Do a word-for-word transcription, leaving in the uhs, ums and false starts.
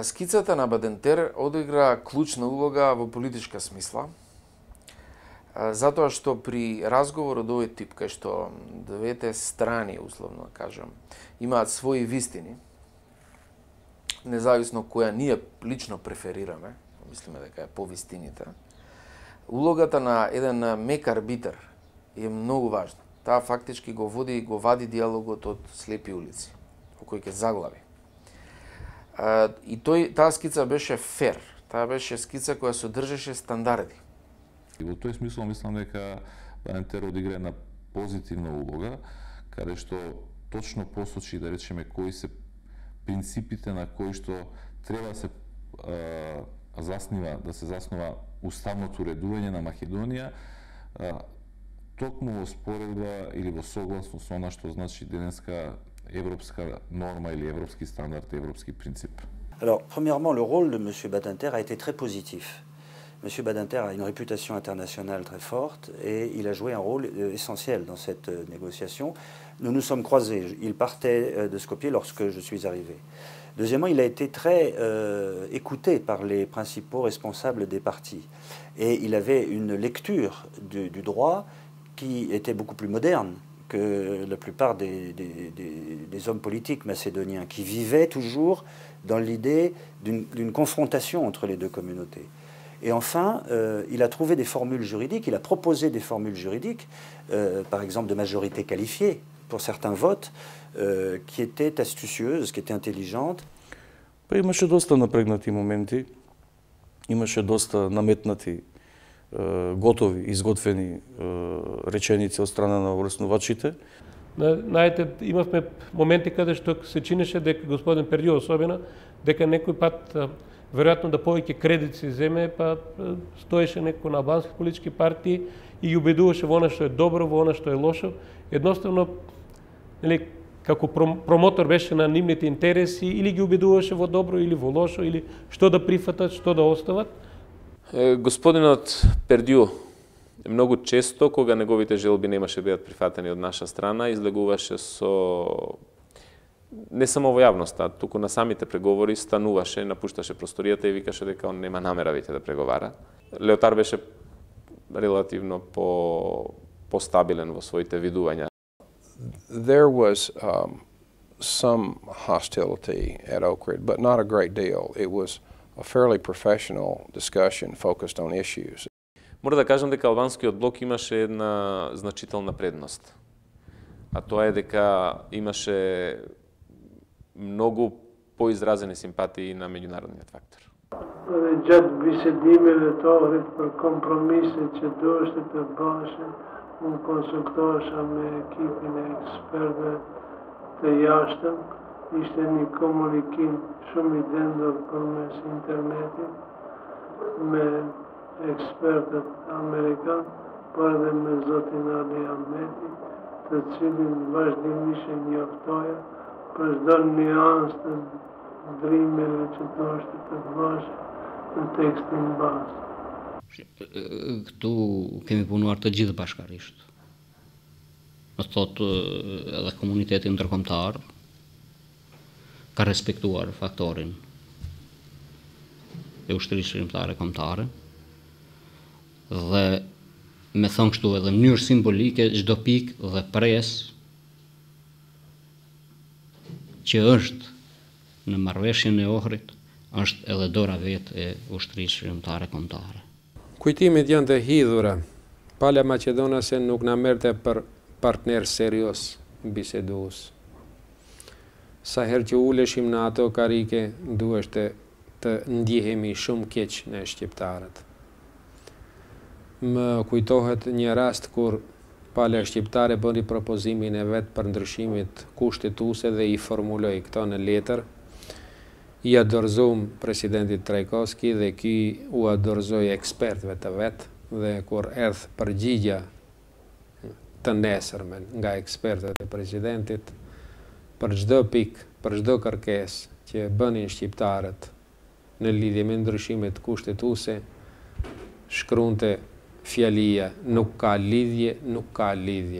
Скицата на Бадентер одигра клучна улога во политичка смисла, затоа што при разговор од овој тип, кај што двете страни, условно да кажам, имаат своји вистини, независно која ние лично преферираме, мислиме дека е по вистините, улогата на еден мек арбитар е многу важна. Таа фактички го води и го вади диалогот од слепи улици, во кој ќе заглави. И тој, таа скица беше фер, таа беше скица која содржеше стандарди. И во тој смисол мислам дека Бадентер одигра една позитивна улога, каде што точно посочи, да речеме, кои се принципите на кои што треба се а, заснива, да се заснува уставното уредување на Македонија, а, токму во споредба или во согласност со она што значи денеска европска норма или европски стандард, европски принцип. Alors, premièrement, le rôle de M. Badinter a été très positif. M. Badinter a une réputation internationale très forte et il a joué un rôle essentiel dans cette négociation. Nous nous sommes croisés. Il partait de Skopje lorsque je suis arrivé. Deuxièmement, il a été très euh, écouté par les principaux responsables des partis. Et il avait une lecture du, du droit qui était beaucoup plus moderne que la plupart des, des, des, des hommes politiques macédoniens, qui vivaient toujours dans l'idée d'une confrontation entre les deux communautés. Et enfin, euh, il a trouvé des formules juridiques, il a proposé des formules juridiques, euh, par exemple de majorité qualifiée pour certains votes, euh, qui étaient astucieuses, qui étaient intelligentes. Па имаше доста напрегнати моменти, имаше доста наметнати, готови, изготвени реченици од страна на врснувачите. Знаете, имавме моменти каде што се чинеше дека господин Пердио особено, дека некој пат веројатно да повеќе кредит се земе, па стоеше некој на албански политички партии и ги убедуваше во она што е добро, во она што е лошо. Едноставно, нели, како промотор беше на нивните интереси, или ги убедуваше во добро или во лошо, или што да прифатат, што да остават. Господинот Пердио многу често, кога неговите желби немаше бидат прифатени од наша страна, излегуваше со не само во јавноста, туку на самите преговори стануваше, напушташе просторијата и викаше дека он нема намера веќе да преговара. Леотар беше релативно по постабилен во своите видувања. There was um, some hostility at Ohrid, but not a great deal. It was a fairly professional discussion focused on issues. Мора да кажам дека албанскиот блок имаше една значителна предност. А тоа е дека имаше многу поизразени симпатии на меѓународниот фактор. Gjatë bisedimeve të Ohrid për kompromise që duheshte të bashën, unë konsultohesha me ekipin e ekspertëve të jashtëm. Ishte një komunikim shumë i dendur përmes internetit me ekspertët amerikan, por edhe me zotin Ali Ahmeti, të cilin vazhdimisht e njoftoja për çdo nuancë të ndrimeve që duheshte të bashë në tekstin bazë. Këtu kemi punuar të gjithë bashkarisht. Në thotë edhe komuniteti ndërkombëtar ka respektuar faktorin e ushtrisë shërimtare kombëtare dhe me thonë kështu edhe në mënyrë simbolike çdo pikë dhe presë që është në marrëveshjen e Ohrit është edhe dora vetë e ushtrisë shërimtare kombëtare. Kujtimit janë të hidhura. Pala Maqedonase nuk na merrte për partner serios bisedues. Sa herë që uleshim në ato karike, duheshte të ndjehemi shumë keq në shqiptarët. Më kujtohet një rast kur Pala Shqiptare bëri propozimin e vet për ndryshimit kushtetuese dhe i formuloi këto në letër. I dorëzuam presidentit Trajkovski dhe ky u dorëzoi ekspertëve të vet, dhe kur erdh përgjigja të nesërmen nga ekspertët e presidentit, për çdo pikë, për çdo kërkesë që bënin shqiptarët në lidhje me ndryshimet kushtetuese, shkruante fjalia nuk ka lidhje, nuk ka lidhje.